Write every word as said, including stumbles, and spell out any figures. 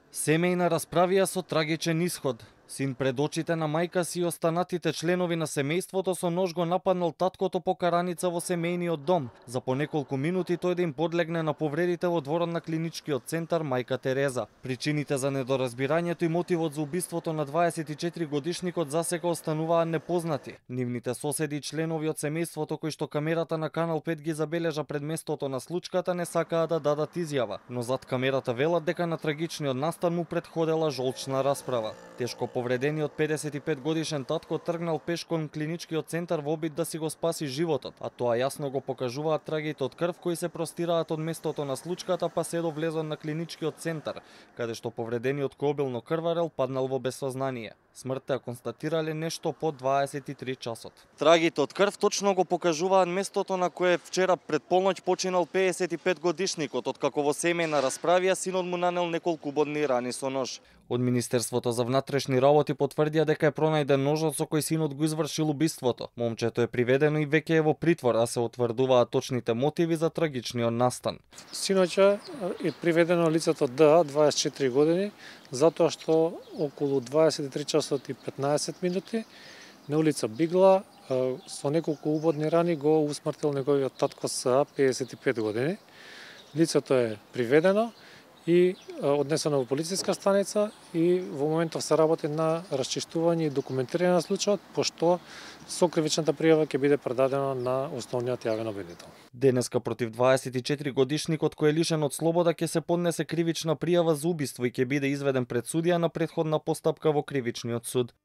Семејна расправија со трагичен исход. Син пред очите на мајка си и останатите членови на семејството со нож го нападнал таткото по караница во семејниот дом. За по неколку минути тој да им подлегне на повредите во дворот на клиничкиот центар Мајка Тереза. Причините за недоразбирањето и мотивот за убиството на дваесет и четири годишникот засека остануваат непознати. Нивните соседи и членови од семејството кои што камерата на Канал пет ги забележа пред местото на случката не сакаат да дадат изјава, но зад камерата велат дека на трагичниот настан му претходела жолчна расправа. Тешко повредениот педесет и пет годишен татко тргнал пеш кон клиничкиот центар во обид да си го спаси животот, а тоа јасно го покажуваат трагите од крв кои се простираат од местото на случката па се до влезот на клиничкиот центар, каде што повредениот кој обилно крварел паднал во безсознание. Смртта ја констатирале нешто по дваесет и три часот. Трагите од крв точно го покажуваат местото на кое вчера пред полноќ починал педесет и пет годишникот, откако во семејна расправија синот му нанел неколку бодни рани со нож. Од Министерството за внатрешни работи потврдија дека е пронајден ножот со кој синот го извршил убиството. Момчето е приведено и веќе е во притвор, а се утврдуваат точните мотиви за трагичниот настан. Синоќа е приведено лицето Д, дваесет и четири години, затоа што околу дваесет и три часот и петнаесет минути на улица Бигла со неколку убодни рани го усмртил неговиот татко С, педесет и пет години. Лицето е приведено и однесено во полициска станица и во моментов се работи на расчистување и документирање на случајот, пошто сокривичната пријава ќе биде предадена на основниот јавен обвинител. Денеска против дваесет и четири годишникот кој е лишен од слобода ќе се поднесе кривична пријава за убиство и ќе биде изведен пред судија на претходна постапка во кривичниот суд.